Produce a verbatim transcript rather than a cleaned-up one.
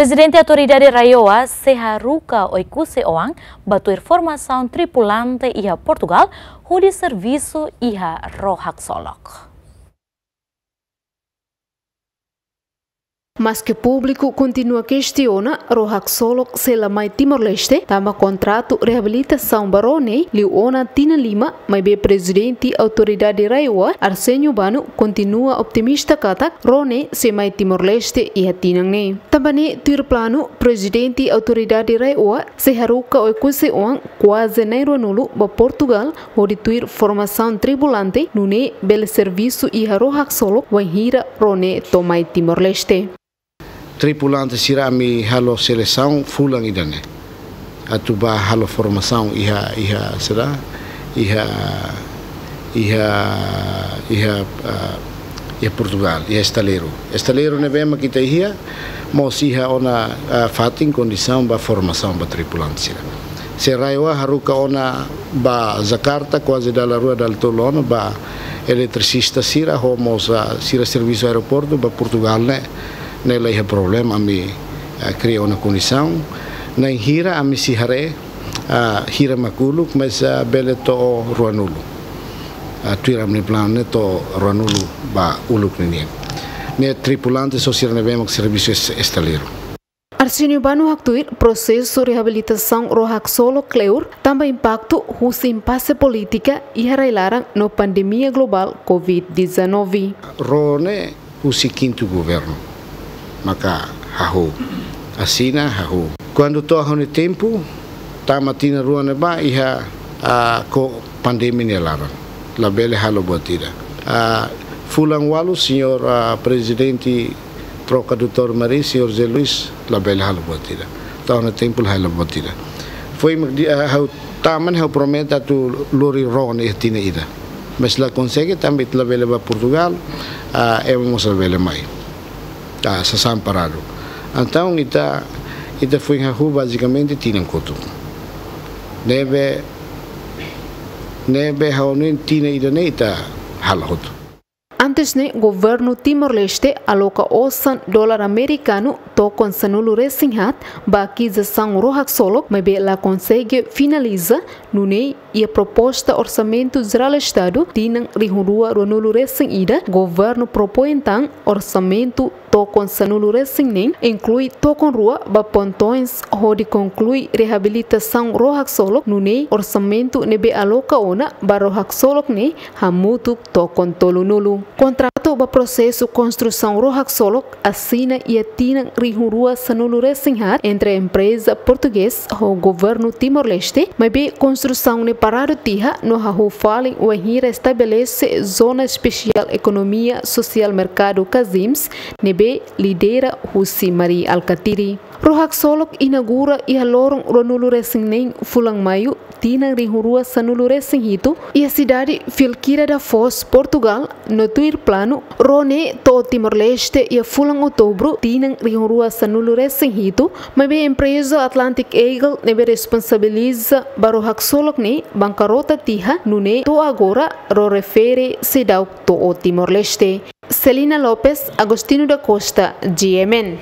Prezidente Autoridade RAEOA sei haruka Oe-Kusi Oan ba tuir formasaun tripulante iha Portugal hodi servisu iha ró haksolok. Maske públiku kontinua kestiona ró haksolok sei la mai Timor-Leste, tanba kontratu reabilitasaun ba ró ne'e liu ona tinan lima, maibé Prezidente Autoridade RAEOA, Arsénio Bano, kontinua optimista katak ró ne'e sei mai Timor-Leste iha tinan ne'e. Tanba ne'e tuir planu, Prezidente Autoridade RAEOA sei haruka Oe-Kusi Oan kuaze na'in ruanulu ba Portugal, hodi tuir formasaun tripulante, nune'e bele servisu iha ró haksolok wainhira ró ne'e to'o mai Timor-Leste. Tripulante sira ami halo selesaun fulan ida-ne'e. Atu ba halo formasaun iha, iha sira, iha, iha, iha, ah, iha Portugal, iha estaleiru. Estaleiru ne'ebé mak ita iha, mós iha ona, ah, fatin kondisaun ba formasaun ba tripulante sira. Se RAEOA haruka ona ba Jakarta, kuaze dala rua dala tolu ona, ba eletricista sira, ho mós, ah, sira servisu aeroportu, ba Portugal ne'e, ne'e la iha problema, ami, ah, kria ona kondisaun. Na'in hira ami sei haree, ah, hira mak uluk, mas, ah, bele to'o ruanulu. Ah, tuir ami-nia planu ne'e to'o ruanulu ba uluk ninian. Ne'e tripulante só sira ne'ebé mak servisu es-, estaleiru. Arsénio Bano haktuir prosesu reabilitasaun ró haksolok kleur tanba impaktu husi impase polítika iha rai-laran no pandemia globál covid dezanove. Ró ne'e husi kintu governu maka hahú, asina hahú. Kuandu to'o ha'u-nia tempu, tama tinan rua ne'ebá iha, ah, ko pandemia nia laran, labele halo buat ida. Ah, fulan ualu, señór, ah, Prezidente troka doutór Mari, señór José Luís, labele halo buat ida. To'o ha'u-nia tempu la halo buat ida. Foin mak di, ah, ha'u tama ne'e ha'u promete atu lori ró ne'e tinan ida. Mas la konsege, tanba ita labele ba Portugal, ah, ema mós labele mai. Ah, sasán paradu. Entaun ita, ita foin hahú bazikamente tinan kotuk. Ne'ebé, ne'ebé ha'u hanoin tinan ida-ne'e ita halo hotu. Antes ne'e, governu Timor-Leste aloka osan dolar amerikanu tokon sanulu-resin-haat ba akizisaun ró haksolok, maibé la konsege finaliza, nune'e iha proposta Orsamentu Jerál Estadu tinan rihun rua ruanulu resin ida, governu propoin tan orsamentu tokon sanulu-resin-neen, inklui tokon rua ba pontoins hodi konklui reabilitasaun ró haksolok, nune'e orsamentu ne'ebé aloka ona ba ró haksolok ne'e hamutuk tokon tolunulu. Kontratu ba prosesu konstrusaun ró haksolok asina iha tinan rihun rua sanulu-resin-haat entre empreza portugés ho governu Timor-Leste, maibé konstrusaun ne'e paradu tiha no hahú fali wainhira estabelese Zona Espesiál Ekonomia Sosiál Merkadu, CASIMS, ne'ebé lidera husi Mari Alkatiri. Ró haksolok inaugura iha loron ruanulu-resin-neen fulan Maiu tinan rihun rua sanulu-resin-hitu iha sidade Vilqueira da Foz, Portugal, no tuir planu, ró ne'e to'o Timor-Leste iha fulan Outubru tinan rihun rua sanulu-resin-hitu, maibé empreza Atlantic Eagle ne'ebé responsabiliza ba ró haksolok ne'e bankarota tiha, nune'e to'o agora ró refere seidauk to'o Timor-Leste. Celina Lopes, Agostinho da Costa, G M N.